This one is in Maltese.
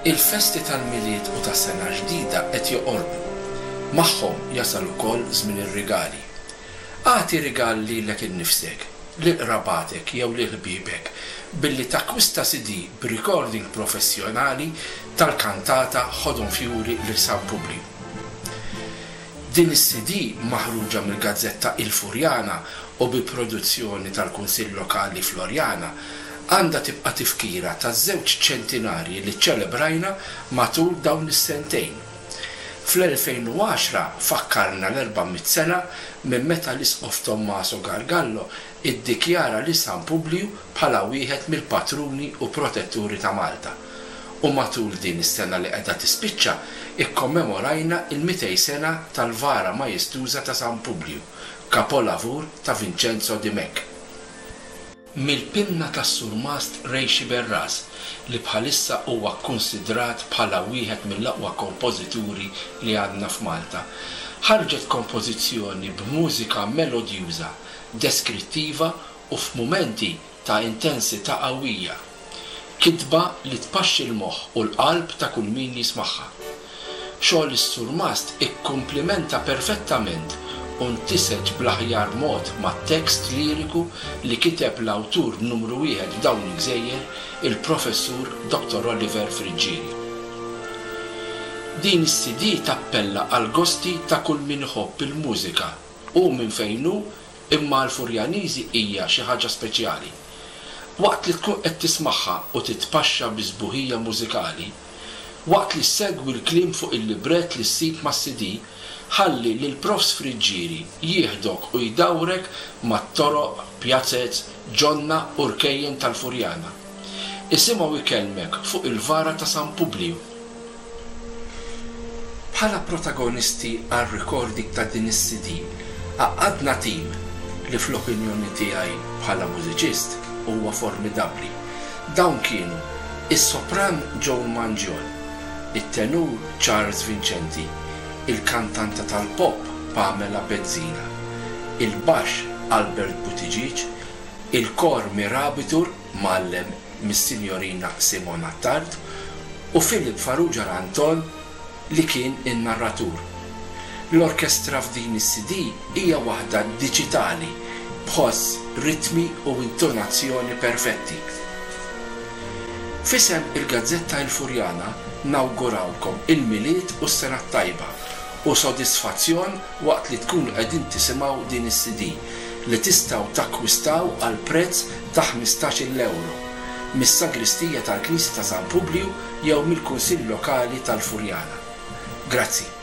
Il-festi tal-Milied u tas-Sena l-Ġdida qed joqorbu. Magħhom jasal ukoll żmien ir-rigali. Agħti rigal lilek innifsek, lil qrabatek jew lil ħbiebek billi takkwista CD b'recording professjonali tal-kantata Ħodhom Fjuri lil San Publju. Din is-CD maħruġa mill-gazzetta Il Furjana u bi produzzjoni tal-Kunsill Lokali Floriana għandha tibqa' tifkira taż-żewġ ċentinarji li ċċelebrajna matul dawn is-sentejn. Fl-2010 fakkarna l-erba' mitt sena minn meta l-Isqof Tommaso Gargallo iddikjara lil San Publju bħala wieħed mill-patruni u protetturi ta' Malta. U matul din is-sena li qiegħda tispiċċa ikkommemorajna l-mitej sena tal-vara majestuża ta' San Publju, kapolavur ta' Vincenzo Dimech. Mill-pinna tas-Surmast Ray Sciberras, li bħalissa huwa kkunsidrat bħala wieħed mill-aqwa kompożituri li għandna f'Malta, ħarġet kompożizzjoni b'mużika melodjuża, deskrittiva u f'mumenti ta' intensità qawwija. Kitba li tpaxxi l-moħħ u l-qalb ta' kull min jismagħha. Xogħol is-surmast ikkumplimenta perfettament u ntiseġ bl-aħjar mod mat-tekst liriku li kiteb l-awtur numru wieħed f'dawn il-gżejjer, il-Professur Dottor Oliver Friggieri. Din is-CD tappella għall-gosti ta' kull min iħobb il-mużika, hu minn fejn hu imma għall-Furjaniżi hija xi ħaġa speċjali. Waqt li tkun qed tismagħha u titpaxxa bis-sbuħija mużikali, waqt li ssegwi l-kliem fuq il-librett li ssib mas-CD, ħalli lill-Profs Friggieri jieħdok u jdawrek mat-toroq, pjazez, ġonna u rkejjen tal-Furjana. Isimgħu jkellmek fuq il-vara ta' San Publju. Bħala protagonisti għar-recording ta' din is-CD, għaqqadna tim li fl-opinjoni tiegħi bħala mużiċist huwa formidabbli. Dawn kienu is-sopran Joan Mangion, it-tenur Charles Vincenti, il-kantanta tal-pop Pamela Bezzina, il-baxx Albert Buttigieg, il-kor Mirabitur mgħallem mis-Sinjorina Simona Attard u Philip Farrugia Ranton li kien in-narratur. L-orkestra f'din is-CD hija waħda diġitali b'ħoss, ritmi u intonazzjoni perfetti. F'isem il-gazzetta Il Furjana nawgurawlkom il-Milied u s-Sena t-Tajba u sodisfazzjon waqt li tkunu qegħdin tisimgħu din is-CD li tistgħu takkwistaw għal prezz ta' ħmistax-il ewro mis-sagristija tal-Knisja ta' San Publju jew mill-Kunsill Lokali tal-Furjana. Grazzi.